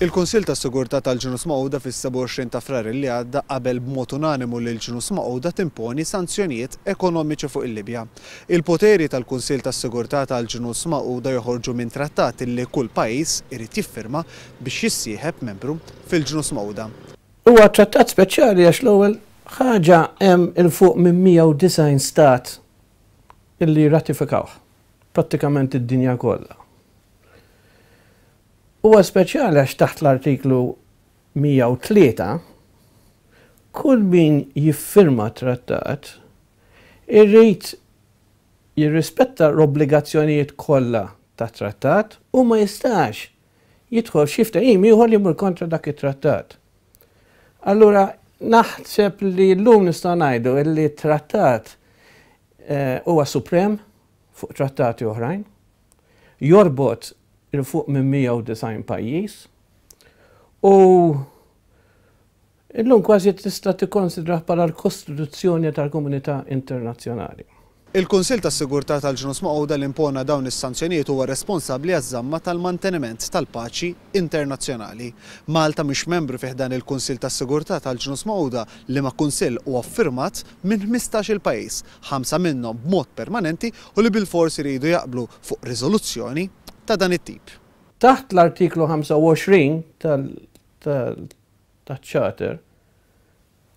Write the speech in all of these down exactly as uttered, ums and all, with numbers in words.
Il-Kunsill tas-Sigurtà tal-Ġnus Magħquda fis-sebgħa u għoxrin ta' Frar li għadda qabel b'mod unanimu li l-Ġnus Magħquda timponi sanzjonijiet ekonomiċi fuq il-Libja. Il-poteri tal-Kunsill tas-Sigurtà tal-Ġnus Magħquda joħorġu minn trattat li kull pajjiż irid jiffirma biex jissieħeb membru fil-Ġnus Magħquda. Huwa trattat speċjali għax l-ewwel ħaġa hemm 'il fuq minn mija u disgħin stat illi ratifikawh, prattikament id-dinja kollha. Huwa speċjali għax taħt l-artiklu mija u tlieta kull min jiffirma trattat irrid jirrispetta l-obbligazzjonijiet kollha ta' trattat u ma jistax jidħol xi ftehim ieħor li jmur kontra dak it-trattat. Allura naħseb li llum nistgħu ngħidu li t-trattat, eh, huwa suprem fuq trattati oħrajn, jorbot il fuq minn mija u disgħin pajjiż u illum kważi tista' tikkonsidra bħala l-Kostituzzjoni tal-Komunità Internazzjonali. Il-Kunsill tas-Sigurtà tal-Ġnus Magħquda li impona dawn is-sanzjonijiet huwa responsabbli għaż-żamma tal-manteniment tal-paċi internazzjonali. Malta mhix membru fih dan il-Kunsill tas-Sigurtà tal-Ġnus Magħquda li ma' kunsill huwa ffirmat minn ħmistax-il pajjiż, ħamsa minnhom b'mod permanenti u li bilfors iridu jaqblu fuq riżoluzzjoni ta' dan it-tip. Taħt l-artiklu ħamsa u għoxrin tal-, tal-, taċ-Charter,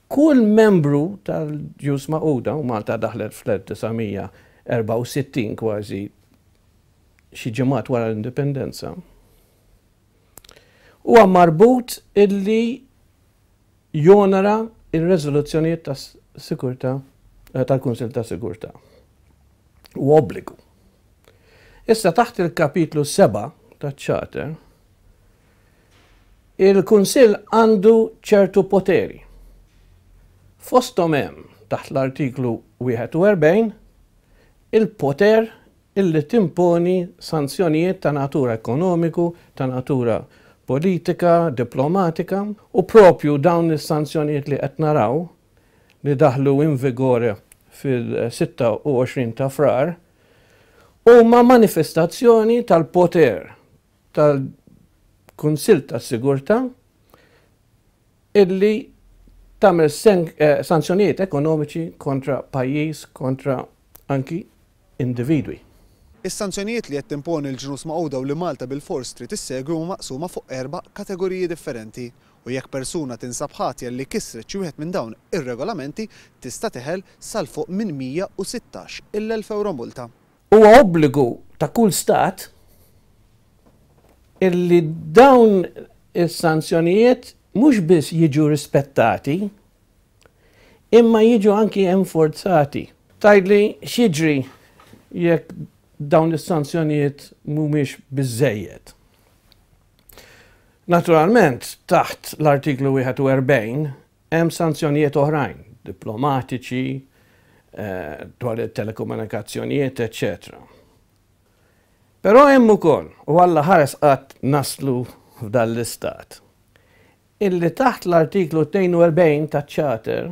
kull membru tal-Ġnus Magħquda, u Malta daħlet fl-elf disa' mija erbgħa u sittin kważi xi ġimgħat wara l-indipendenza, huwa marbut illi jonora il-reżoluzzjonijiet tas-sigurtà, eh, tal-Kunsill ta' Sigurtà. U obbligu. Issa taħt il-kapitlu seba' taċ-Charter, il-Kunsill għandu ċertu poteri. Fosthom hemm taħt l-artiklu wieħed u erbgħin il-poter illi timponi sanzjonijiet ta' natura ekonomiku, ta' natura politika, diplomatika, u propju dawn is-sanzjonijiet li qed naraw li daħlu in vigore fil-sitta u għoxrin ta' Frar huma manifestazzjoni tal-poter tal-Kunsill tas-Sigurtà illi tagħmel sen-, eh, sanzjonijiet ekonomiċi kontra pajjiż, kontra anki individwi. Is-sanzjonijiet li qed timponi l-Ġnus Magħquda u li Malta bilfors trid issegwi huma maqsuma fuq erba' kategoriji differenti u jekk persuna tinsab ħatja li kisret xi wieħed minn dawn ir-regolamenti tista' teħel sal fuq minn mija u sittax il-elf euro multa. Huwa obbligu ta' kull stat illi dawn is-sanzjonijiet mhux biss jiġu rispettati, imma jiġu anki enforzati. Tgħidli x'jiġri jekk dawn is-sanzjonijiet mhumiex biżżejjed. Naturalment, taħt l-artiklu wieħed u erbgħin hemm sanzjonijiet oħrajn, diplomatiċi, eh, dwar it-telekomunikazzjonijiet, eċċetera. Però hemm ukoll, u Alla ħares qatt naslu f'dan l-istat, illi taħt l-artiklu tnejn u erbgħin taċ-Charter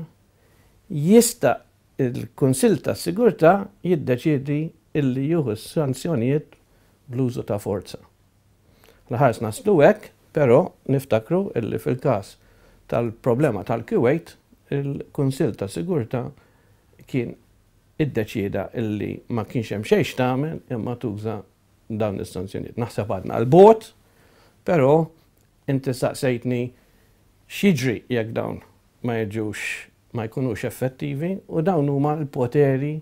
jista' il-Kunsill tas-Sigurtà jiddeċiedi illi jieħu s-sanzjonijiet bl-użu ta' forza. L-ħares naslu hekk, però niftakru illi fil-każ tal-problema tal-Kuwait, il-Kunsill tas-Sigurtà kien iddeċieda illi ma kienx hemm xejn x'tagħmel imma tuża dawn is-sanzjonijiet. Naħseb għadna l-bot, però inti saqsejtni x'jiġri jekk dawn ma jiġux, ma jkunux effettivi, u dawn huma l-poteri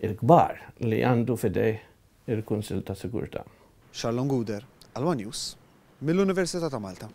il-kbar li għandu fidej il-Kunsill ta' Sigurtà. Charlon Gouder, għal One News, mill-Università ta' Malta.